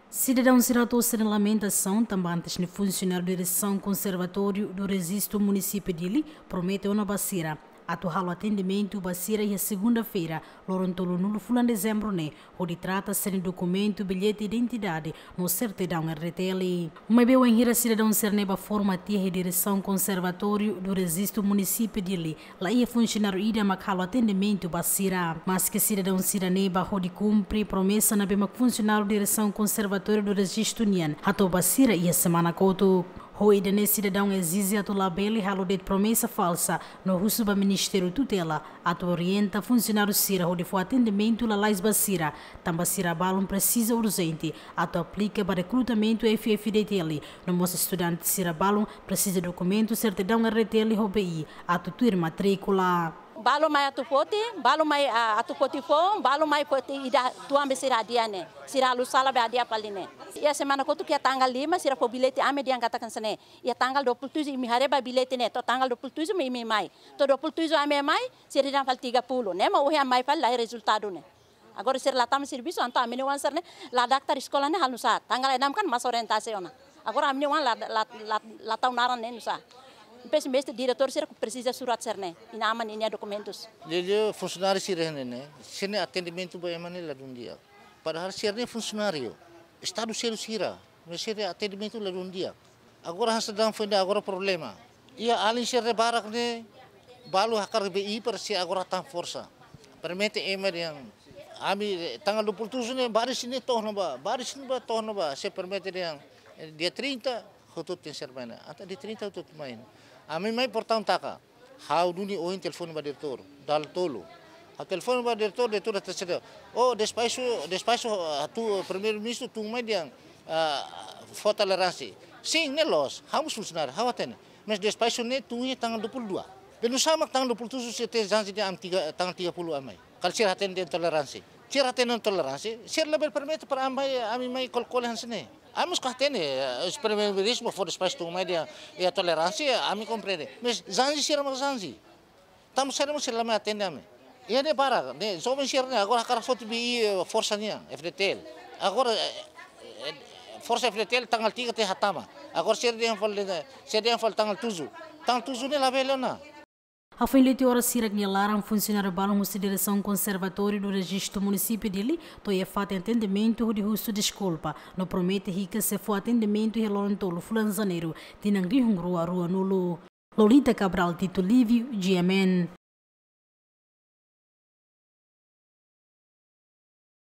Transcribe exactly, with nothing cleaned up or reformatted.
Sidadaun sira hato'o sira-nia lamentasaun tanba antes ne'e funsionáriu Diresaun Konservatóriu do Rejistu Munisípiu Dili promete ona ba sira atu halo atendimentu ba sira iha segunda-feira, loron tolunulu fulan Dezembru ne'e, hodi trata sira-nia dokumentu, billete identidade no sertidaun R D T L. Maibé wainhira sidadaun sira-ne'e bá forma tiha iha Diresaun Konservatóriu do Rejistu Munisípiu Dili, la iha funsionáriu ida mak halo atendimentu ba sira. Maske sidadaun sira-ne'e bá hodi kumpre promesa ne'ebé mak funsionáriu Diresaun Konservatóriu do Rejistu nian hato'o ba sira iha semana kotuk. Ho ida-ne'e sidadaun ezije atu labele halo de'it promesa falsa no husu ba Ministériu Tutela atu orienta funsionáriu sira hodi fó atendimentu lalais ba sira, tanba sira balun presiza urjente atu aplika ba rekrutamentu F F D T L, no mós estudante sira balun presiza dokumentu sertidaun R D T L ho B I atu tuir matríkula. Balu mai atu foti, balu mai, ah, atu foti foun, balu mai foti ida tuan be sira hadi'a ne'e. Sira halo sala be hadi'a fali ne'e. Iha semana kotuk iha tanggal lima, sira fó billete ami dehan katakan hanesan ne'e. Iha tanggal dua puluh tujuh imi haree ba billete ne'e, to'o tanggal dua puluh tujuh mak imi mai. To'o dua puluh tujuh ami mai, sira dehan fali tiga puluh. Ne'e mak ohin mai fali la iha rezultadu ne'e. Agora sira la tama servisu, entaun ami-nia oan sira-ne'e la daftar eskola ne'e halo nusá. Tanggal enam kan mós orientasi ona. Agora ami-nia oan la, la, la, la tau naran ne'e nusá. Depois mestre diretór sira presiza surat sira-ne'e. Inan-aman ninia dokumentus. Liuliu funsionáriu sira-ne'e, sira-nia atendimentu ba ema ne'e ladún di'ak. Padahal sira-ne'e funsionáriu. Estadu selu sira. Maibé sira-nia atendimentu ladún di'ak. Agora hanesan dehan foin dehan agora problema. Iha alin sira barak ne'e balu hakarak B I para sira agora tan forsa. Promete ema dehan ami, eh, tanggal dua puluh tujuh ne'e baris ne'e to'o ona ba, baris ne'e ba to'o ona ba. Sira promete dehan, eh, dia trinta hotu-hotu tenke ser mai ne'e. Entaun dia trinta hotu-hotu mai ne'e. Ami mai portaun taka. Ha'u duni ohin telefone ba diretór, dala tolu. Ha'u telefone ba diretór, diretór hatete: "Oh, despaxu, despaxu, ah, tun, Primeiru-Ministru tun mai dehan, ah, fó toleránsia." Sin, ne'e loos, ha'u mós funsionáriu, ha'u hatene. Maibé despaxu ne'e tun iha tanggal dua puluh dua. Be nusá mak tanggal dua puluh tujuh sira tenke janji dehan ami tiga, tanggal tiga puluh ami mai. Kala sira hatene dehan toleránsia. Sira hatene toleránsia, sira labele promete para ami mai, ami mai kole-kole hanesan ne'e. Ami mós ka hatene, eh, Primeiru-Ministru fó despaxu tun mai dehan, eh, toleránsia, ami komprende. Maibé janji sira mak janji. Tanba sira mós sira la mai atende ami. Iha ne'e barak, ne'e joven sira-ne'e agora hakarak foti B I, eh, forsa nian, F D T L. Agora, eh, eh, forsa F D T L tanggal tiga tenke hatama. Agora sira dehan fali, sira dehan fali tanggal tujuh. Tanggal tujuh ne'e labele ona. Hafoin leti oras hirak nia laran, funsionáriu balun husi Diresaun Konservatóriu do Rejistu Munisípiu Dili to'o iha fatin atendimentu hodi husu deskulpa no promete hikas sei fó atendimentu iha loron tolu fulan Janeiru, tinan rihun rua ruanulu. Lolita Cabral, Tito Lívio, G M N.